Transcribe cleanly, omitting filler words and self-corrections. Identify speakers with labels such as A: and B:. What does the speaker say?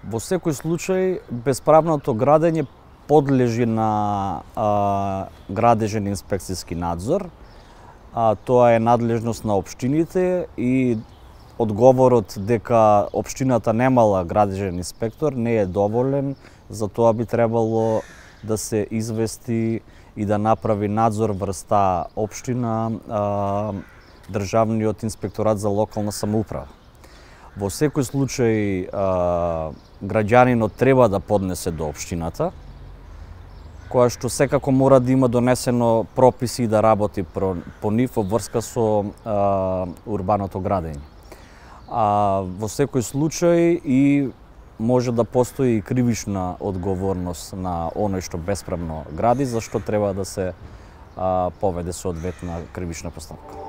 A: Во секој случај, бесправното градење подлежи на градежен инспекцијски надзор. Тоа е надлежност на општините и одговорот дека општината немала градежен инспектор не е доволен, затоа би требало да се извести и да направи надзор врз таа општина Државниот инспекторат за локална самоуправа. Во секој случај граѓанинот треба да поднесе до општината, која што секако мора да има донесено прописи и да работи по нив во врска со урбаното градење. Во секој случај и може да постои и кривична одговорност на оној што бесправно гради, за што треба да се поведе соодветна кривична постапка.